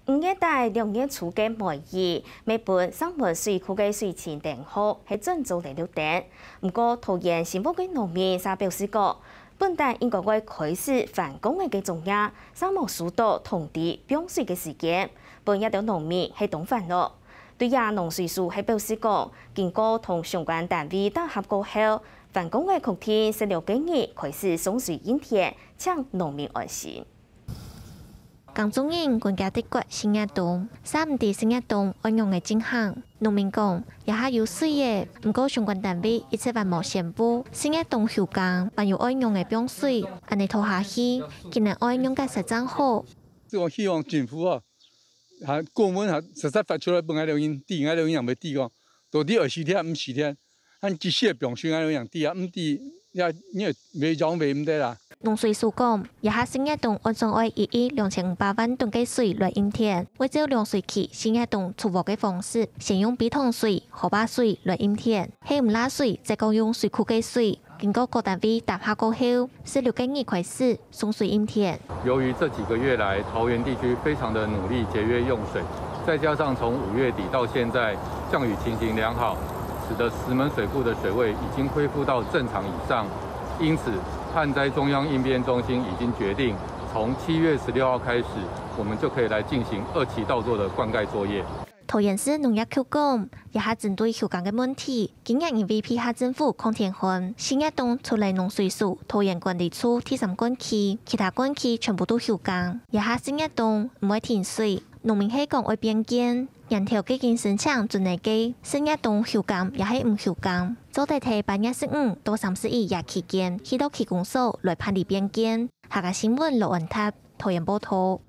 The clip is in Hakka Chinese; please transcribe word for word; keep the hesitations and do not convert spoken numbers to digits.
五月底六月初个梅雨，乜分石門水庫个水情頂好，係正做得溜等。毋過，桃園新屋个農民就表示講，本旦應該會開始翻工仔个作業，就無收到通知放水个時間，分這兜農民係當煩惱。對這農水署係表示講，經過同相關單位打合過後，翻工仔確定十六个日開始送水應田，請農民安心。 耕種人分佢得過四月冬，煞毋知四月冬愛仰仔進行。農民講，這下有水仔，毋過相關單位一直還無宣布四月冬休耕，還有愛仰仔放水，恁仔拖下去，今年愛仰結煞正好。這个希望政府啊，還公文還實在發出來分𠊎兜人知，𠊎兜人也毋會知講，到底愛四月毋四月。 恁及時个放水，𠊎兜人知啊，毋知也，你也會仰會毋得啦。農水署講，這下四月冬按算愛一億兩千五百萬噸个水來應田，會照量水期四月冬出禾个方式，先用陂塘水、河壩水來應田，係毋罅水，再過用水庫个水。經過各單位打合過後，十六个日開始送水應田。由於這幾個月來，桃園地區非常的努力節約用水，再加上從五月底到現在，降雨情形良好，使得石門水庫的水位已經恢復到正常以上。因此，旱災中央應變中心已經決定，從七月十六號開始，我們就可以來進行二期稻作的灌溉作業。 桃園市農業局講，這下針對休耕个問題，今年因為配合政府抗天旱，四月冬除了農水署、桃園管理處第三灌區，其他灌區全部都休耕。這下四月冬毋會停水，農民係講愛變更，年頭既經申請准仔个，四月冬休耕也係毋休耕，做得在八月十五到三十一這期間，去到區公所來辦理變更。客家新聞羅安達，桃園報導。